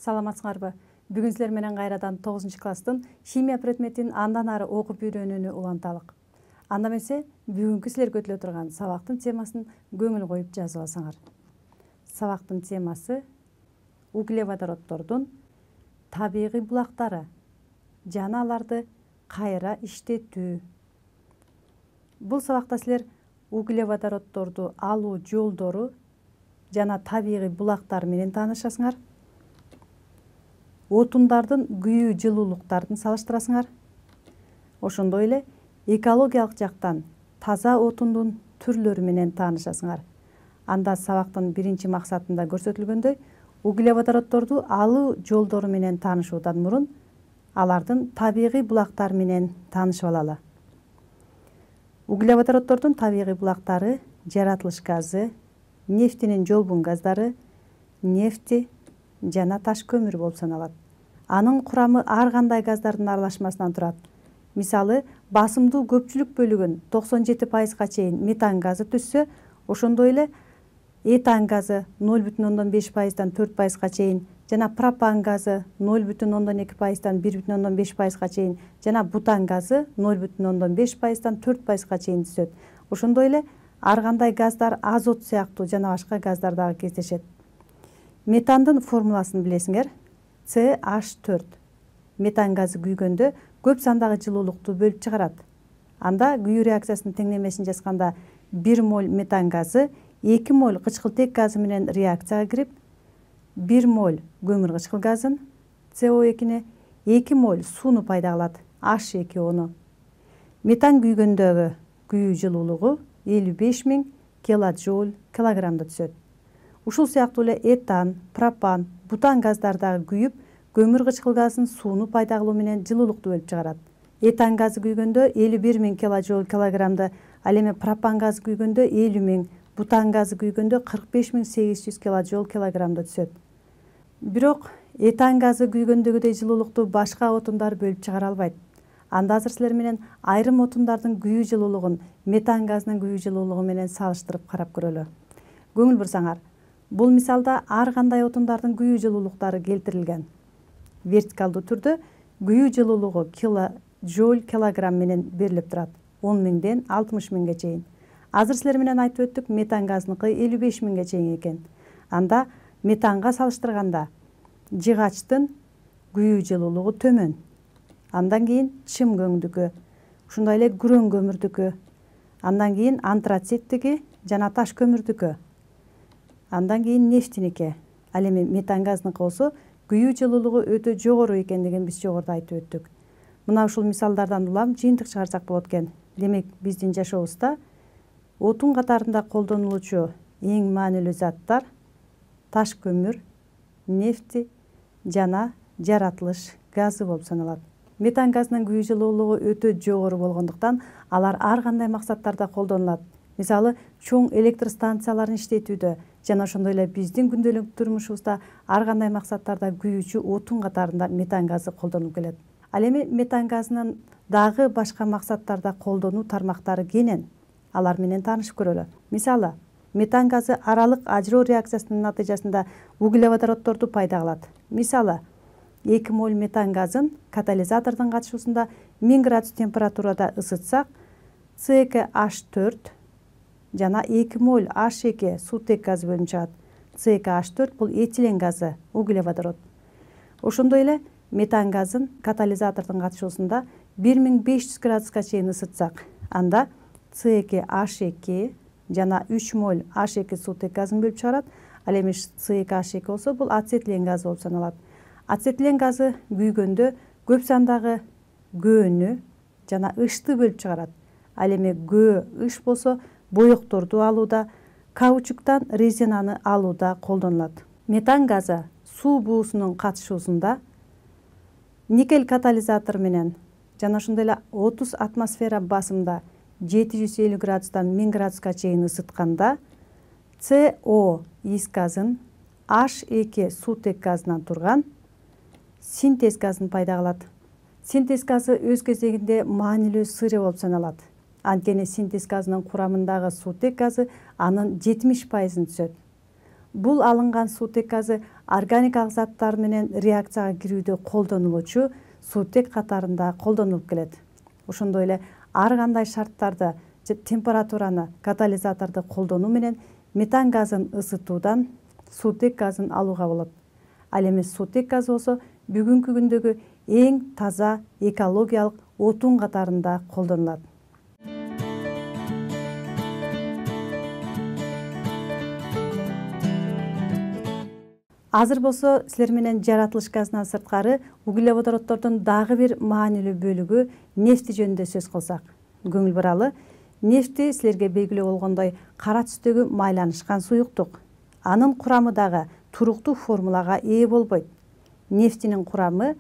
Саламатсыңарбы? Бүгүн силер менен кайрадан 9-класстын химия предметин андан ары окуп үйрөнүүнү уланталык. Анда эмесе бүгүнкү силерге өтүлө турган сабактын темасын көңүл коюп жазып алсаңар. Сабактын темасы углеводороддордун табигый булактары жана аларды кайра иштетүү. Бул сабакта силер углеводороддорду алуу жолдору жана табигый булактар менен таанышасыңар. Отундардын күйүү жылуулуктарын салыштырасыңар. Ошондой эле экологиялык жактан таза отундун түрлөрү менен таанышасыңар. Анда сабактын биринчи максатында көрсөтүлгөндөй, углеводороддорду алуу жолдору менен таанышуудан мурун алардын табигый булактары менен таанышып алалы. Углеводороддордун табигый булактары жаратылыш газы, нефтинин жолбун газдары, нефти жана таш көмүр болуп саналат. Анын курамы ар кандай газдардын аралашмасынан турат. Мисалы, басымдуу көпчүлүк бөлүгүн 97%га чейин метан газы түзсө, ошондой эле этан газы 0,5%дан 4%га чейин, жана пропан газы 0,2%дан 1,5%га чейин, жана бутан газы 0,5%дан 4%га чейин түзөт. Ошондой эле ар кандай газдар азот сыяктуу жана башка газдар дагы кездешет. Метандын формуласын билесиңер. CH4. Метан газы күйгөндө көп сандагы жылуулукту бөлүп чыгарат. Анда күйүү реакциясынын теңдемесин жазганда 1 моль метан газы 2 моль кычкылтек газы менен реакцияга кирип, 1 моль көмүр кычкыл газын, CO2-ни, 2 моль сууну пайда кылат, H2O-ну. Метан күйгөндөгү күйүү жылуулугу 55.000 килоджоуль килограммда түзөт. Ушул сыяктуу эле этан, пропан, бутан газдар дагы күйүп, көмүр кычкыл газын сууну пайда кылуу менен жылуулукту бөлүп чыгарат. Этан газы күйгөндө 51.000 килоджоуль килограммда, ал эми пропан газы күйгөндө 50.000, бутан газы күйгөндө 45.800 килоджоуль килограммда түзөт. Бирок этан газы күйгөндөгүдөй жылуулукту башка отундар бөлүп чыгара албайт. Анда азыр силер менен айрым отундардын күйүү жылуулугун метан газынын күйүү жылуулугу менен салыштырып карап көрөлү. Көңүл бурсаңар, бул мисалда ар кандай отундардын күйүү жылуулуктары келтирилген. Вертикалдуу түрдө күйүү жылуулугу килоджоуль килограмм менен берилип турат, 10.000ден 60.000ге чейин. Азыр силер менен айтып өттүк, метан газыныкы 55.000ге чейин экен. Анда метанга салыштырганда жыгачтын күйүү жылуулугу төмөн. Андан кийин чым көңдүкү, ушундай эле күрөң көмүрдүкү, андан кийин антрациттики жана таш көмүрдүкү, андан кийин нефтиники. Ал эми метан газыныкы болсо күйүү жылуулугу өтө жогору экендигин биз жогоруда айтып өттүк. Мына ушул мисалдардан улам жыйынтык чыгарсак болот экен. Демек, биздин жашообузда отун катарында колдонулуучу эң маанилүү заттар таш көмүр, нефти жана жаратылыш газы болуп саналат. Метан газынын күйүү жылуулугу өтө жогору болгондуктан алар ар кандай максаттарда колдонулат. Мисалы, чоң электр станцияларын иштетүүдө жана ошондой эле биздин күндөлүк турмушубузда ар кандай максаттарда күйүүчү отун катарында метан газы колдонулуп келет. Ал эми метан газынын дагы башка максаттарда колдонуу тармактары кенен. Алар менен таанышып көрөлү. Мисалы, метан газы аралык ажыроо реакциясынын натыйжасында углеводороддорду пайда кылат. Мисалы, 2 моль метан газын катализатордун катышуусунда 1000 градус температурада ысытсак, CH4 жана 2 моль H2 суутек газы бөлүнүп чыгат. CH4 бул этилен газы, углеводород. Ошондой эле метан газын катализатордун катышуусунда 1500 градуска чейин ысытсак, анда CH2 жана 3 моль H2 суутек газын бөлүп чыгарат. Ал эми CH2 болсо бул ацетилен газы болуп саналат. Ацетилен газы күйгөндө көп сандагы көөнү жана ышты бөлүп чыгарат. Ал эми көө, ыш болсо боекторду алууда, каучуктан резинаны алууда колдонулат. Метан газы суу буусунун катышуусунда никель катализатор менен жана ошондой эле 30 атмосфера басымда 750 градустан 1000 градуска чейин ысытканда CO ис газын H2 суутек газынан турган синтез газын пайда кылат. Синтез газы өз кезегинде маанилүү сыры болуп саналат. Анткени синтез газынын курамындагы суутек газы анын 70%-ын түзөт. Бул алынган суутек газы органикалык заттар менен реакцияга кирүүдө колдонулуучу суутек катарында колдонулуп келет. Ошондой эле ар кандай шарттарды же температураны катализаторду колдонуу менен метан газын ысытуудан суутек газын алууга болот. Ал эми суутек газы болсо бүгүнкү күндөгү эң таза экологиялык отун катарында колдонулат. Азыр болсо силер менен жаратылыш газынан сырткары углеводороддордун дагы бир маанилүү бөлүгү нефти жөнүндө сөз кылсак. Көңүл буралы, нефти силерге белгилүү болгондой кара түстөгү майланышкан суюктук. Анын курамы дагы туруктуу формулага ээ болбойт. Нефтинин курамы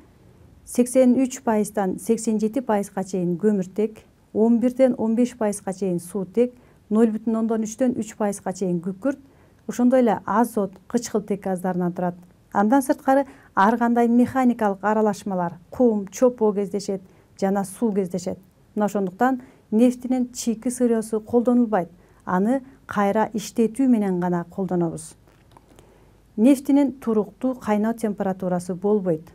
83%-дан 87%га чейин көмүртек, 11-ден 15%га чейин суутек, 0,3-дөн 3%га чейин күкүрт, ошондой эле азот, кычкылтек газдарынан турат. Андан сырткары ар кандай механикалык аралашмалар, кум, чопо кездешет жана суу кездешет. Мына ошондуктан нефтинин чийки сырьёсу колдонулбайт. Аны кайра иштетүү менен гана колдонобуз. Нефтинин туруктуу кайноо температурасы болбойт.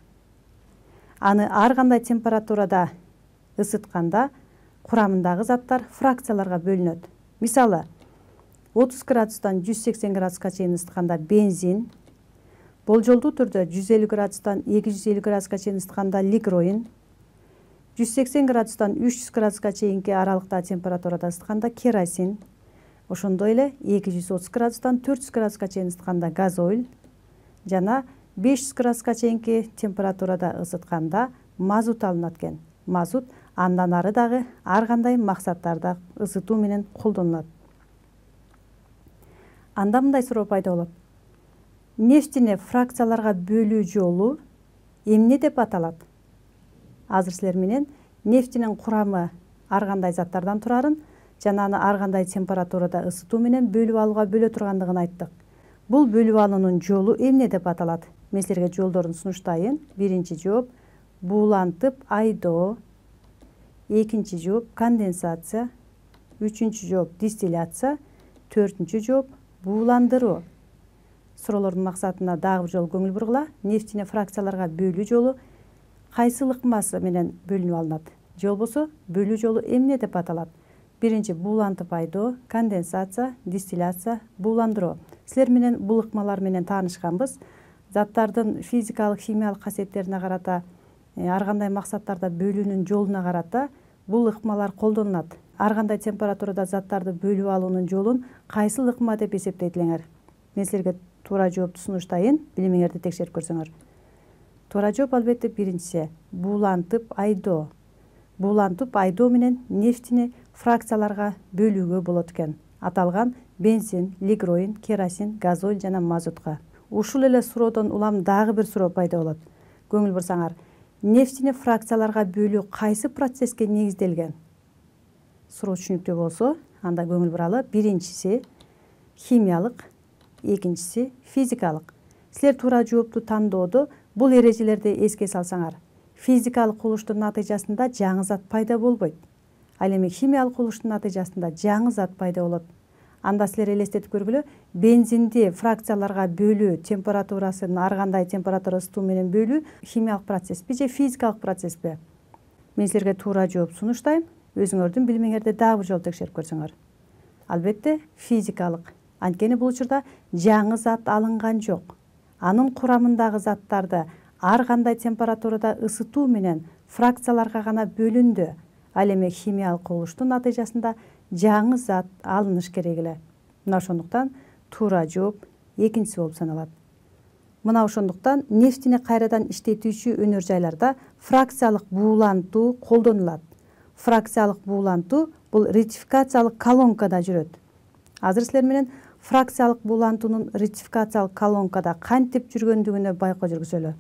Аны ар кандай температурада ысытканда курамындагы заттар фракцияларга бөлүнөт. Мисалы, 30 градустан 180 градуска чейин ысытканда бензин, болжолдуу түрдө 150 градустан 250 градуска чейин ысытканда лигроин, 180 градустан 300 градуска чейинки аралыкта температурада ысытканда керосин, ошондой эле 230 градустан 400 градуска чейин ысытканда газоиль жана 500 градуска чейинки температурада ысытканда мазут алынат экен. Мазут андан ары дагы ар кандай максаттарда ысытуу менен колдонулат. Анда мындай суроо пайда болот. Нефтини фракцияларга бөлүү жолу эмне деп аталат? Азыр силер менен нефтинин курамы ар кандай заттардан турарын жана аны ар кандай температурада ысытуу менен бөлүп алууга бөлө тургандыгын айттык. Бул бөлүп алуунун жолу эмне деп аталат? Мен силерге жолдорун сунуштайын. Биринчи жооп буулантып айдоо, экинчи жооп конденсация, үчүнчү жооп дистилляция, төртүнчү жооп бууландыруу. Суроолордун максатына дагы бир жолу көңүл бургула. Нефтини фракцияларга бөлүү жолу кайсы ыкмасы менен бөлүнүп алынат? Же болбосо бөлүү жолу эмне деп аталат? Биринчи буулантып айдоо, конденсация, дистилляция, бууландыруу. Силер менен бул ыкмалар менен таанышканбыз. Заттардын физикалык, химиялык касиеттерине карата, ар кандай максаттарда бөлүүнүн жолуна карата бул ыкмалар колдонулат. Ар кандай температурада заттарды бөлүп алуунун жолун кайсыл ыкма деп эсептейт элеңер? Мен силерге туура жоопту сунуштайын, билимиңерди текшерип көрсөңөр. Туура жооп албетте биринчиси буулантып айдоо. Буулантып айдоо менен нефтини фракцияларга бөлүүгө болот экен. Аталган бензин, лигроин, керосин, газоиль жана мазутка. Ушул эле суроодон улам дагы бир суроо пайда болот. Көңүл бурсаңар, нефтини фракцияларга бөлүү кайсы процесске негизделген? Суроо түшүнүктүү болсо, анда көңүл буралы. Биринчиси химиялык, экинчиси физикалык. Силер туура жоопту тандоодо бул эрежелерди эске салсаңар, физикалык кубулуштун натыйжасында жаңы зат пайда болбойт. Ал эми химиялык кубулуштун натыйжасында жаңы зат пайда болот. Анда силер элестетип көргүлө, бензинди фракцияларга бөлүү, температурасын ар кандай температура ысытуу менен бөлүү химиялык процесспи же физикалык процесспи? Мен силерге туура жооп сунуштайм. Өзүңөрдүн билимиңерди дагы бир жолу текшерип көрсөңөр. Албетте физикалык. Анткени бул учурда жаңы зат алынган жок. Анын курамындагы заттарды ар кандай температурада ысытуу менен фракцияларга гана бөлүндү. Ал эми химиялык кубулуштун натыйжасында жаңы зат алыныш керек эле. Мына ошондуктан туура жооп экинчиси болуп саналат. Мына ошондуктан нефтини кайрадан иштетүүчү өнөр жайларда фракциялык буулантуу колдонулат. Фракциялык буулантуу бул ретификациялык колонкада жүрөт. Азыр силер менен фракциялык буулантуунун ретификациялык колонкада кантип жүргөндүгүнө байкоо жүргүзөлү.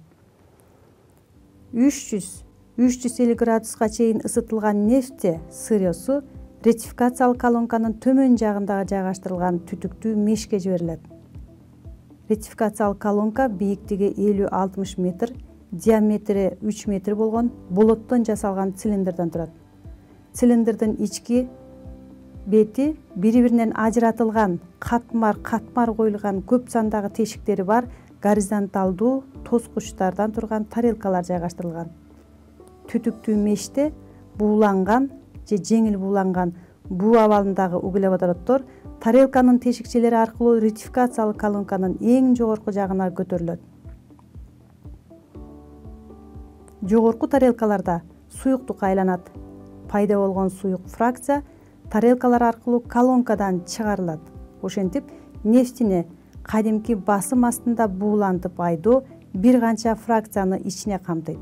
300-350 градуска чейин ысытылган нефти сырьёсу ретификациялык колонканын төмөн жагындагы жайгаштырылган түтүктүү мешке жиберилет. Ретификациялык колонка бийиктиги 50-60 метр, диаметри 3 метр болгон болоттон жасалган цилиндрден турат. Цилиндрдин ички бети бири биринен ажыратылган, катмар коюлган көп сандагы тешиктери бар горизонталдуу тоскучтардан турган тарелкалар жайгаштырылган. Түтүктүү меште бууланган же жеңил бууланган буу абалындагы углеводороттор тарелканын тешикчелери аркылуу ретификациялык колонканын эң жогорку жагына көтөрүлөт. Жогорку тарелкаларда суюктук айланат. Пайда болгон суюк фракция тарелкалар аркылуу колонкадан чыгарылат. Ошентип, нефтини кадимки басым астында буулантып айдоо бир канча фракцияны ичине камтыйт.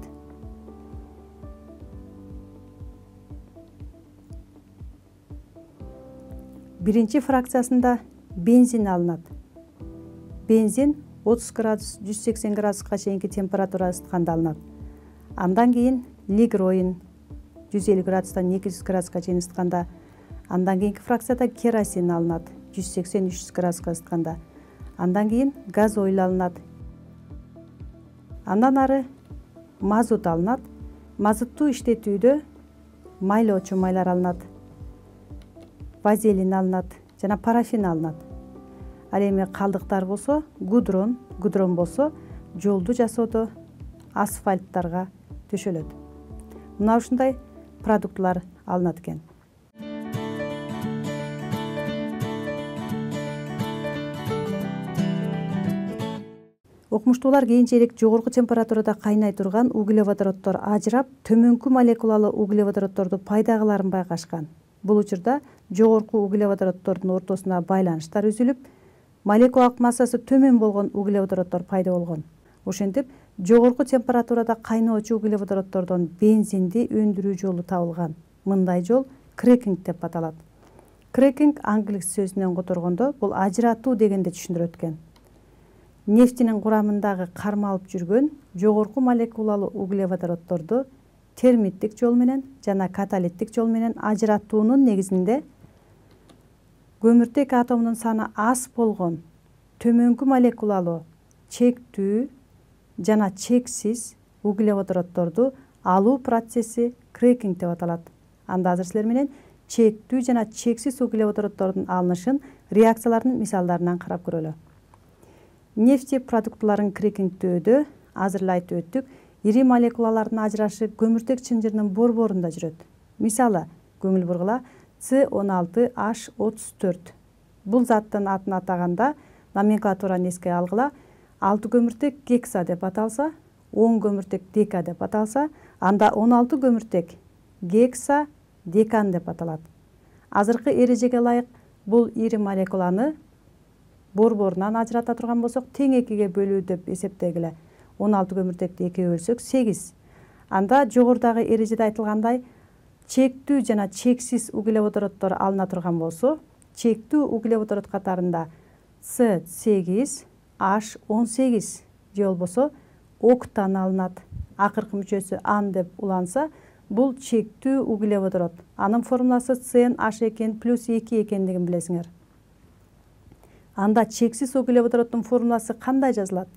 Биринчи фракциясында бензин алынат. Бензин 30 градус 180 градуска чейинки температура ысытканда алынат. Андан кийин лигроин 150 градустан 200 градуска чейин ысытканда. Андан кийинки фракцияда керосин алынат 180-300 градуска ысытканда. Андан кийин газоил алынат. Андан ары мазут алынат. Мазутту иштетүүдө майлоочу майлар алынат. Вазелин алынат жана парафин алынат. Ал эми калдыктар болсо гудрон болсо жолду жасоодо асфальттарга төшөлөт. Мына ушундай продуктлар алынат экен. Окумуштуулар кийинчерээк жогорку температурада кайнай турган углеводороттор ажырап, төмөнкү молекулалуу углеводоротторду пайда кыларын байкашкан. Бул учурда жогорку углеводороттордун ортосуна байланыштар үзүлүп, молекулалык массасы төмөн болгон углеводороттор пайда болгон. Ошентип, жогорку температурада кайноочу углеводороттордон бензинди өндүрүү жолу табылган. Мындай жол крекинг деп аталат. Крекинг англис сөзүнөн которгондо бул ажыратуу дегенди түшүндүрөт экен. Нефтинин курамындагы кармалып жүргөн жогорку молекулалуу углеводоротторду термиттик жол менен жана каталиттик жол менен ажыратуунун негизинде көмүртек атомунун саны аз болгон төмөнкү молекулалуу чектүү жана чексиз углеводоротторду алуу процесси крекинг деп аталат. Анда азыр силер менен чектүү жана чексиз углеводороттордун алынышын реакциялардын мисалдарынан карап көрөлү. Нефти продуктыларын крекингдөөдө азыр эле айтып өттүк, ири молекулалардын ажырашы көмүртек чынжырынын борборунда жүрөт. Мисалы, көңүл бургула C16H34. Бул заттын атын атаганда номенклатураны эске алгыла, 6 көмүртек гекса деп аталса, 10 көмүртек дека деп аталса, анда 16 көмүртек гекса декан деп аталат. Азыркы эрежеге ылайык бул ири молекуланы борборунан ажырата турган болсок, тең экиге бөлүү деп эсептегиле. 16 көмүртекти экиге бөлсөк 8. Анда жогорудагы эрежеде айтылгандай, чектүү жана чексиз углеводороттор алына турган болсо, чектүү углеводорот катарында C8H18 же болбосо октан алынат. Акыркы мүчөсү ан деп уланса, бул чектүү углеводорот. Анын формуласы CnH2+2 экендигин билесиңер. Анда чексиз углеводороттун формуласы кандай жазылат?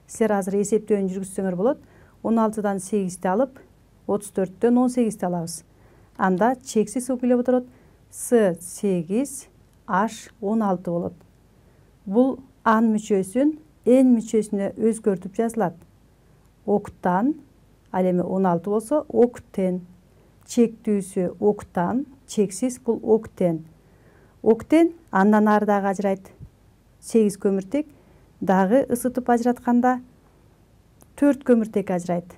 Силер азыр эсептөөнү жүргүзсөңөр болот. 16дан 8-ти алып, 34дөн 18-ти алабыз. Анда чексиз углеводорот C8H16 болот. Бул ан мүчөсүн N мүчөсүнө өзгөртүп жазылат. Октан, ал эми 16 болсо октен, чектүүсү октан, чексиз бул октен. Октен андан ары дагы ажырайт. 8 көмүртек дагы ысытып ажыратканда 4 көмүртек ажырайт.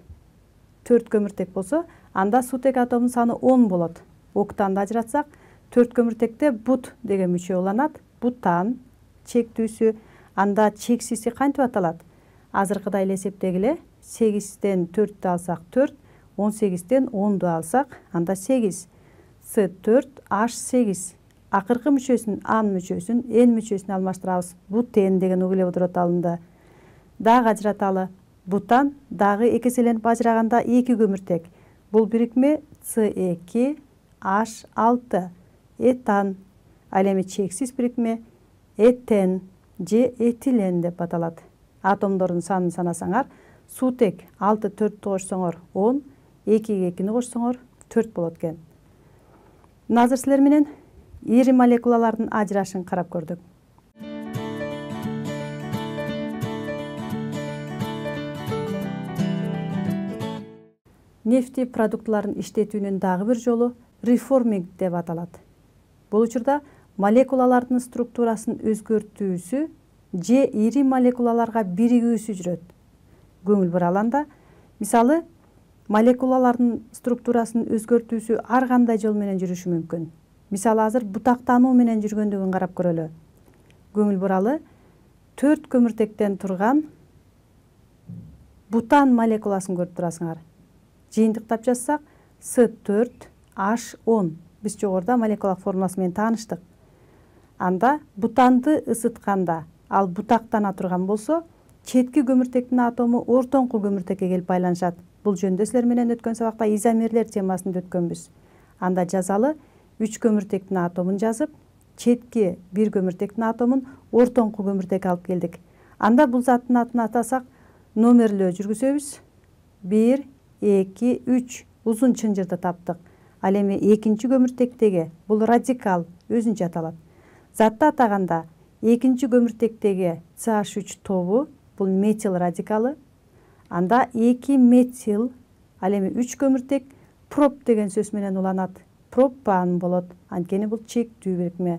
4 көмүртек болсо, анда сутек атомунун саны 10 болот. Октанды ажыратсак, 4 көмүртекте бут деген мүчө уланат. Бутан, чектүүсү, анда чексизи кантип аталат? Азыркыдай эле эсептегиле, 8ден 4тү алсак 4, 18ден 10ду алсак, анда 8. C4H8. Акыркы мүчөсүн, ан мүчөсүн, N мүчөсүн алмаштырабыз. Бутен деген углеводорот алынды. Дагы ажыраталы. Бутан дагы экеселенип ажыраганда 2 көмүртек. Бул бирикме C2H6. Этан. Ал эми чексиз бирикме этен же этилен деп аталат. Атомдордун санын санасаңар, сутек 6 4-тү кошсоңор 10, 2-ге 2-ни кошсоңор 4 болот экен. Азыр силер менен ири молекулалардын ажырашын карап көрдүк. Нефти продуктларын иштетүүнүн дагы бир жолу реформинг деп аталат. Бул учурда молекулалардын структурасын өзгөртүүсү же ири молекулаларга биригүүсү жүрөт. Көңүл бураланда, мисалы, молекулалардын структурасын өзгөртүүсү ар кандай жол менен жүрүшү мүмкүн. Мисалы, азыр бутактануу менен жүргөндүгүн карап көрөлү. Көңүл буралы 4 көмүртектен турган бутан молекуласын көрүп турасыңар. Жыйынтыктап жазсак С4H10. Биз жогоруда молекулалык формуласы менен тааныштык. Анда бутанды ысытканда, ал бутактана турган болсо, четки көмүртектин атому ортоңку көмүртекке келип байланышат. Бул жөнүндө силер менен өткөн сабакта изомерлер темасында өткөнбүз. Анда жазалы 3 көмүртектин атомун жазып, четки 1 көмүртектин атомун ортоңку көмүртекке алып келдик. Анда бул заттын атын атасак, номерлөө жүргүзөбүз. 1, 2, 3 узун чынжырды таптык. Ал эми экинчи көмүртектеги бул радикал өзүнчө аталат. Затты атаганда экинчи көмүртектеги CH3 тобу бул метил радикалы. Анда 2 метил, ал эми 3 көмүртек проб деген сөз менен уланат. Пропан болот. Анткени бул чектүү бирикме.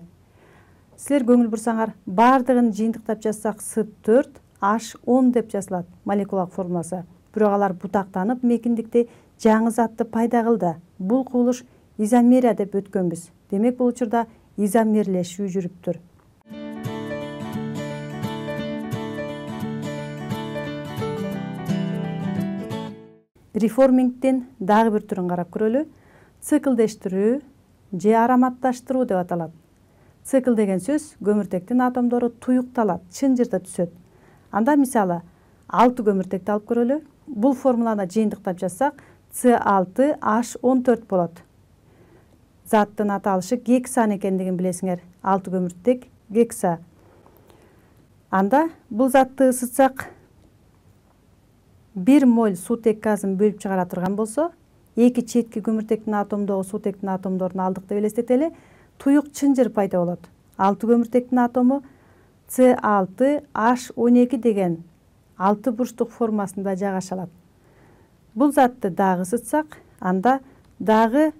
Силер көңүл бурсаңар, бардыгын жыйынтыктап жазсак С4H10 деп жазылат молекулалык формуласы. Бирок алар бутактанып мекиндикте жаңы затты пайда кылды. Бул кубулуш изомерия деп өткөнбүз. Демек бул учурда изомерлешүү жүрүптүр. Реформингдин дагы бир түрүн карап көрөлү. Циклдештирүү же ароматташтыруу деп аталат. Цикл деген сөз көмүртектин атомдору туюкталат, чынжырда түшөт. Анда мисалы 6 көмүртекти алып көрөлү. Бул формуланы жыйынтыктап жазсак C6H14 болот. Заттын аталышы гексан экендигин билесиңер. 6 көмүртек гекса. Анда бул затты ысытсак 1 моль суутек газын бөлүп чыгара турган болсо, эки четки көмүртектин атомдогу суутектин атомдорун алдык деп элестетели, туюк чынжыр пайда болот. 6 көмүртектин атому C6H12 деген 6 бурчтук формасында жайгаша алат. Бул затты дагы ысытсак, анда дагы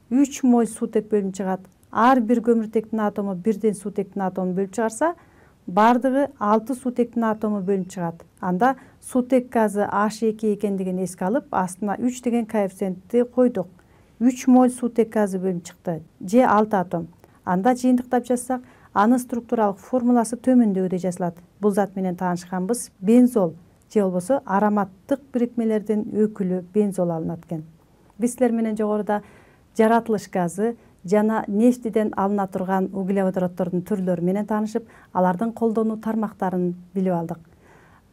3 моль суутек бөлүнүп чыгат. Ар бир көмүртектин атому бирден суутектин атомун бөлүп чыгарса, бардыгы 6 суутектин атому бөлүнүп чыгат. Анда суутек газы H2 экендигин эске алып, астына 3 деген коэффициентти койдук. 3 моль суутек газы бөлүнүп чыкты, же 6 атом. Анда жыйынтыктап жазсак, анын структуралык формуласы төмөндөгүдөй жазылат. Бул зат менен таанышканбыз бензол, же болбосо ароматтык бирикмелердин өкүлү бензол алынат экен. Биз силер менен жогоруда жаратылыш газы жана нефтиден алына турган углеводороддордун түрлөрү менен таанышып, алардын колдонуу тармактарын билип алдык.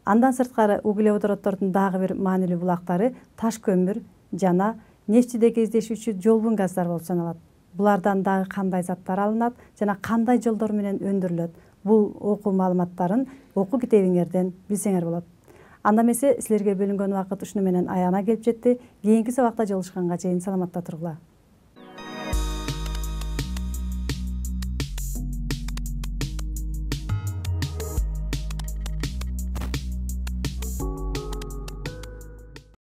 Андан сырткары углеводороддордун дагы бир маанилүү булактары таш көмүр жана нефтиде кездешүүчү жолбун газдар болуп саналат. Булардан дагы кандай заттар алынат жана кандай жолдор менен өндүрүлөт? Бул окуу маалыматтарын окуу китебиңерден билсеңер болот. Анда эмесе силерге бөлүнгөн убакыт ушуну менен аягына келип жетти. Кийинки сабакта жолугушканга чейин саламатта тургула.